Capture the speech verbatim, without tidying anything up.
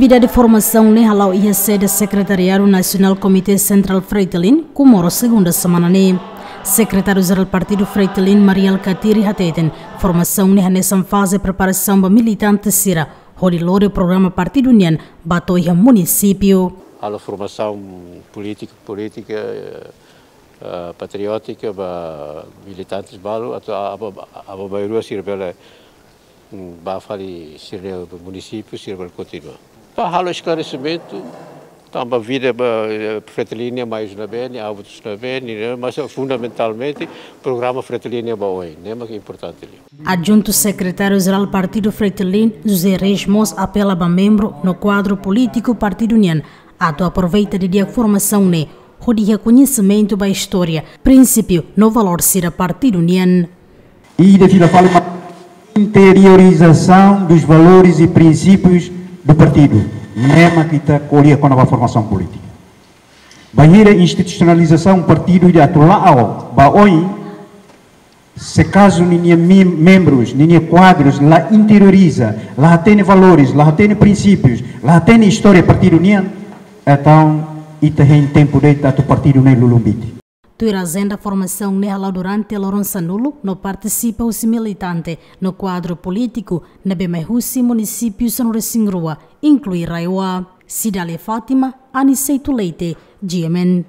Atividade formasaun ne'e hala'o iha sede Sekretariadu Nasionál Komité Sentrál Fretilin, Comoro, segunda semana ne'e. Sekretáriu Jerál Partidu Fretilin, Mari Alkatiri, hateten, formasaun ne'e hanesan faze preparasaun ba militante sira hodi lori programa partidu nian ba to'o iha munisípiu. Halo formasaun polítika, polítika, eh, eh, patriótika ba militantes balu atu a-, aba, aba bairrua sira bele, mm, ba fali sira-nia munisípiu sira bele kontinua. Ba halo esklaresimentu tanba vida ba, eh, Fretilin nian mai ne'ebé, ne'e hábitus ne'ebé, ne'e, mas fundamentalmente programa Fretilin nian ba oin, ne'e mak importante liu. Adjuntu Sekretáriu Jerál Partidu Fretilin, José Reis mós apela ba membru no kuadru polítiku partidu nian atu aproveita didi'ak formasaun ne'e hodi iha koñesimentu ba istória, prinsípiu no valór sira partidu nian. E de fila fala uma interiorização dos valores e princípios do partido. Ne'e mak ita ko'alia kona-ba formasaun polítika. Bainhira institusionalizasaun partidu ida atu la'o ba oin, se kazu ninia mem-, membrus, ninia kuadrus la interioriza, la hatene valores, la hatene prinsípius, la hatene istória partidu nian, entaun ita hein tempu de'it atu partidu ne'e lulun biti. Tuir ajenda, formasaun ne'e hala'o durante loron sanulu no partisipa husi militante no kuadru polítiku ne'ebé mai husi munisípiu sanulu-resin-rua, inklui RAEOA. Cidália Fátima, Aniceto Leite, G M N.